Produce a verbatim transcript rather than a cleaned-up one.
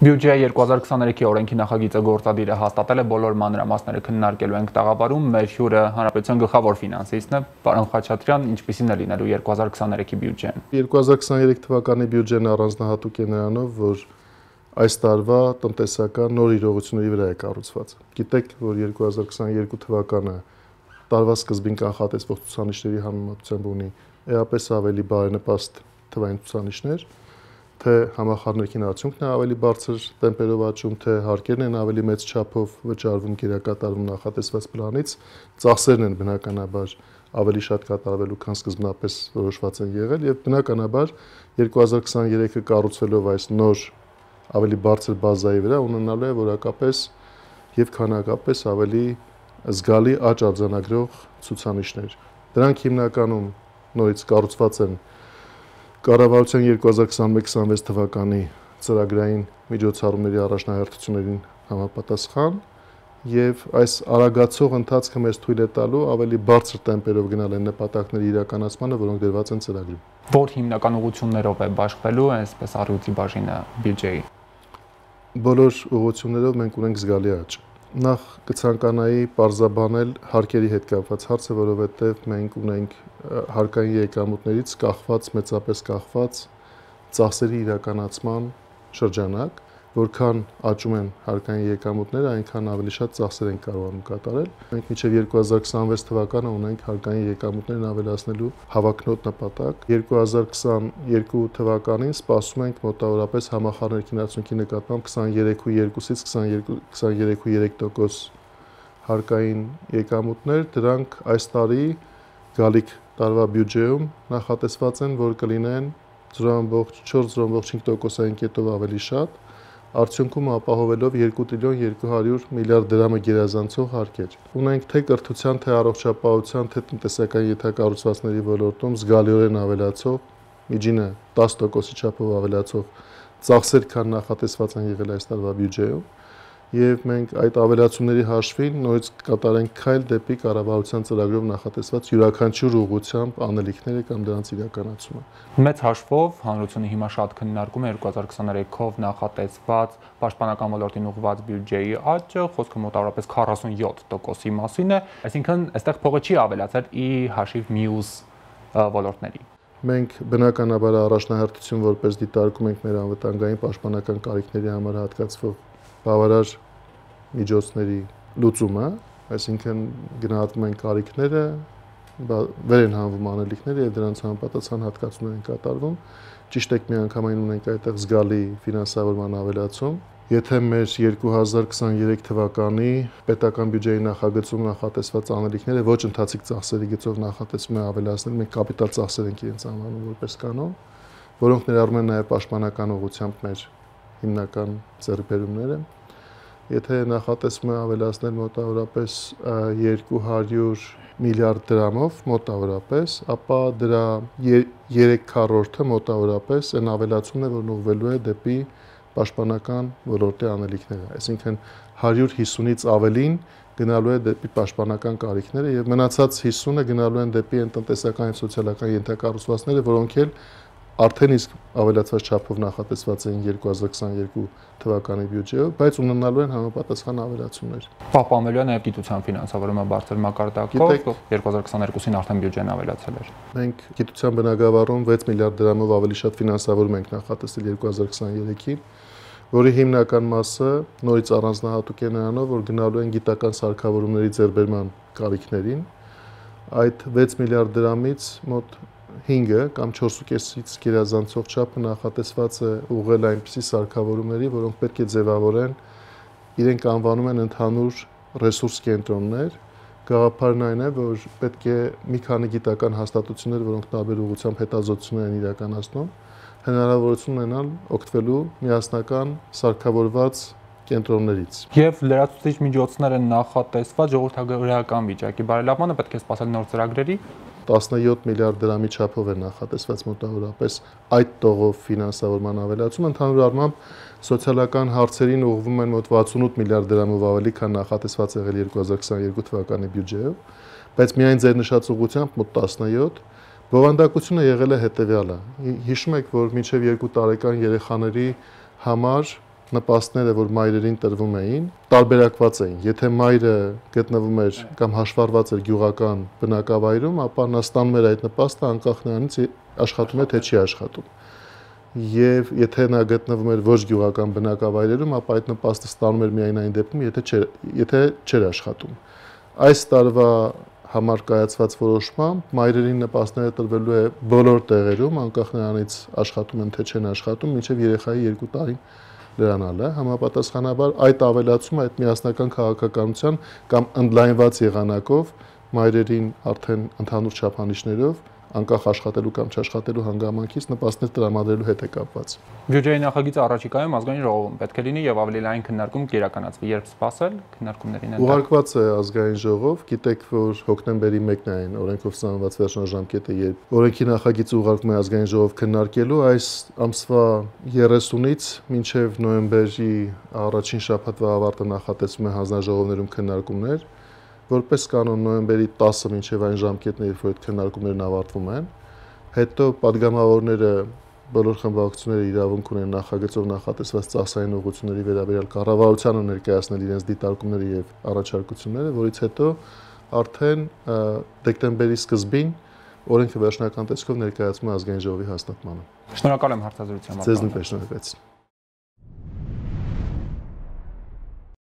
Բյուջե երկու հազար քսաներեքի օրենքի նախագիծը գործադիրը հաստատել է բոլոր մանրամասները քննարկելու ենք տաղավարում։ Մեր հյուրը հանրապետության գլխավոր ֆինանսիստն է, պարոն Խաչատրյան, ինչպիսին է լինելու երկու հազար քսաներեքի բյուջեն։ երկու հազար քսաներեք թվականի բյուջեն առանձնահատուկ է նրանով, որ այս տարվա տնտեսական նոր իրողությունների վրա է կառուցված։ Գիտեք, որ երկու հազար քսաներկու թվականը տարվա սկզբին կանխատեսվող ցուցանիշների համեմատությամբ ունի էապես ավելի բարենպաստ թվային ցուցանիշներ, թե համախառնողին արդյունքն է ավելի բարձր տեմպերով աճում, թե հարկերն են ավելի մեծ չափով վճարվում գերակատարվում նախատեսված պլանից, ծախսերն են բնականաբար ավելի շատ կատարվելու, քան սկզբնապես որոշված են եղել, եւ բնականաբար երկու հազար քսաներեքը կառուցվելով այս նոր ավելի բարձր բազայի վրա ունենալու է որակապես եւ քանակապես ավելի զգալի աճ արձանագրող ցուցանիշներ։ Դրանք հիմնականում նորից կառուցված են Կառավարության երկու հազար քսաներեք քսանվեց թվականի ծրագրային միջոցառումների առաջնահերթություններին համապատասխան եւ այս արագացող ընթացքը մեզ թույլ է տալու ավելի բարձր տեմպերով գնալ այն նպատակների իրականացմանը, որոնք դրված են ծրագրում։ Որ հիմնական ուղղություններով է բաշխվելու այսպես առյուծի բաժինը բյուջեի։ Բոլոր ուղղություններով մենք ունենք զգալի աճ։ Նախ կցանկանայի պարզաբանել հարկերի հետ կապված հարցը, որովհետև մենք ունենք հարկային եկամուտներից կախված, մեծապես կախված ծախսերի իրականացման շրջանակ, որքան աճում են հարկային եկամուտները, այնքան ավելի շատ ծախսեր են կարողանում կատարել։ Մենք մինչև երկու հազար քսանվեց թվականը ունենք հարկային եկամուտներն ավելացնելու հավակնոտ նպատակ։ երկու հազար քսաներկու թվականին սպասում ենք մոտավորապես համախառնողին արդյունքի նկատմամբ քսաներեք ու երկուսից քսաներեք ու երեք տոկոս հարկային եկամուտներ, դրանք այս տարի գալիք տարվա բյուջեում նախատեսված են, որ կլինեն զրո ամբողջ չորս զրո ամբողջ հինգ տոկոսային կետով ավելի շատ, արդյունքում ապահովելով երկու տրիլիոն երկու հարյուր միլիարդ դրամը գերազանցող հարկեր։ Ունենք թե կրթության, թե առողջապահության, թե տնտեսական ենթակառուցվածքների ոլորտում զգալիորեն ավելացող, միջինը տասը տոկոսի չափով ավելացող ծախսեր, քան նախատեսված են եղել այս տարվա բյուջեում, եւ մենք այդ ավելացումների հաշվին նորից կատարենք քայլ դեպի կառավարության ծրագրով նախատեսված յուրաքանչյուր ուղղությամբ անելիքները կամ դրանց իրականացումը։ Մեծ հաշվով հանրությունը հիմա շատ քննարկում է երկու հազար քսաներեքով նախատեսված պաշտպանական ոլորտին ուղղված բյուջեի աճը, խոսքը մոտավորապես քառասունյոթ տոկոսի մասին է, այսինքն այստեղ փողը չի ավելացել ի հաշիվ մյուս ոլորտների։ Մենք բնականաբար առաջնահերթություն որպես դիտարկում ենք մեր անվտանգային պաշտպանական կարիքների համար հատկացվող բավարար միջոցների լուծումը, այսինքն գնահատում են կարիքները, վեր են հանվում անելիքները եւ դրանց համապատասխան հատկացումներ են կատարվում։ Ճիշտ է, միանգամայն ունենք այդտեղ զգալի ֆինանսավորման ավելացում։ Եթե մեր երկու հազար քսաներեք թվականի պետական բյուջեի նախագծում նախատեսված անելիքները ոչ ընթացիկ ծախսերի գծով նախատեսվում է ավելացնել, մենք կապիտալ ծախսեր ենք իրենց անվանում որպես կանոն, որոնք ներառում են նաեւ պաշտպանական ուղղությամբ մեր հիմնական ձեռքբերումները։ Եթե նախատեսվում է ավելացնել մոտավորապես երկու հարյուր միլիարդ դրամով մոտավորապես, ապա դրա երեք քառորդը մոտավորապես այն ավելացումն է, որն ուղղվելու է դեպի պաշտպանական ոլորտի անելիքները, այսինքն հարյուր հիսունից ավելին գնալու է դեպի պաշտպանական կարիքները եւ մնացած հիսունը գնալու են դեպի այն տնտեսական եւ սոցիալական ենթակառուցվածքները, որոնք էլ արդեն իսկ ավելացված չափով նախատեսված էին երկու հազար քսաներկու թվականի բյուջեով, բայց ունենալու են համապատասխան ավելացումներ։ Պահպանվելու է նաեւ գիտության ֆինանսավորումը բարձր մակարդակով, երկու հազար քսաներկուսին արդեն բյուջեն ավելացել էր։ Մենք գիտության բնագավառում վեց միլիարդ դրամով ավելի շատ ֆինանսավորում ենք նախատեսել երկու հազար քսաներեքին, որի հիմնական մասը նորից առանձնահատուկ է նրանով, որ գնալու են գիտական սարքավորումների ձեռբերման կարիքներին։ Այդ վեց միլիարդ դրամից մոտ հինգը կամ չորսուկեսից գերազանցող չափը նախատեսված է ուղղել այնպիսի սարքավորումների, որոնք պետք է ձևավորեն, իրենք անվանում են ընդհանուր ռեսուրս կենտրոններ։ Գաղափարն այն է, որ պետք է մի քանի գիտական հաստատություններ, որոնք տարբեր ուղղությամբ հետազոտություններ են իրականացնում, հնարավորություն ունենալ օգտվելու միասնական սարքավորված կենտրոններից։ Եվ լրացուցիչ միջոցներ են նախատեսված ժողովրդագրական վիճակի բարելավմանը, պետք է սպասել նոր ծրագրերի։ տասնյոթ միլիարդ դրամի չափով է նախատեսված մոտավորապես այդ տողով ֆինանսավորման ավելացում, ընդհանուր առմամբ սոցիալական հարցերին ուղղվում են մոտ վաթսունութ միլիարդ դրամով ավելի, քան նախատեսված եղել երկու հազար քսաներկու թվականի բյուջեով, բայց միայն ձեր նշած ուղղությամբ մոտ տասնյոթ Բովանդակությունը եղել է հետևյալը։ Հիշում եք, որ մինչև երկու տարեկան երեխաների համար նպաստները, որ մայրերին տրվում էին, տարբերակված էին։ Եթե մայրը գտնվում էր կամ հաշվառված էր գյուղական բնակավայրում, ապա նա ստանում էր այդ նպաստը անկախ նրանից աշխատում է թե չի աշխատում։ Եվ եթե նա գտնվում էր ոչ գյուղական բնակավայրերում, ապա այդ նպաստը ստանում էր միայն այն դեպքում, եթե չէր, եթե չէր աշխատում։ Այս տարվա համար կայացված որոշմամբ մայրերին նպաստները տրվելու է բոլոր տեղերում, անկախ նրանից աշխատում են թե չեն աշխատում, մինչև երեխայի երկու տարին լրանալը, համապատասխանաբար այդ ավելացումը այդ միասնական քաղաքականության կամ ընդլայնված եղանակով մայրերին արդեն ընդհանուր չափանիշներով անկախ աշխատելու կամ չաշխատելու հանգամանքից նպաստներ տրամադրելու հետ է կապված։ Բյուջեի նախագիծը առաջիկայում ազգային ժողովում պետք է լինի եւ ավելի լայն քննարկում կիրականացվի, երբ սպասել քննարկումներին են։ Ուղարկված է ազգային ժողով, գիտեք, որ հոկտեմբերի մեկն է այն օրենքով սահմանված վերջնաժամկետը, երբ օրենքի նախագիծը ուղարկվում է ազգային ժողով քննարկելու, այս ամսվա երեսունից մինչև նոյեմբերի առաջին շաբաթվա ավարտը նախատեսվում է հանձնաժողովներում քննարկումներ, որպես կանոն նոյեմբերի տասը մինչև այն ժամկետն է, երբ որ այդ քննարկումներն ավարտվում են, հետո падգամավորները բոլոր խմբակցությունները իրավունք ունեն նախագծով նախատեսված ծախսային ուղղությունների վերաբերյալ կառավարությանը ներկայացնել իրենց դիտարկումները եւ առաջարկությունները, որից հետո արդեն դեկտեմբերի սկզբին օրենքը վերջնական տեսքով ներկայացվում է ազգային ժողովի հաստատմանը։ Շնորհակալ եմ հարցազրույցի համար։ Ձեզ նույնպես շնորհակալություն։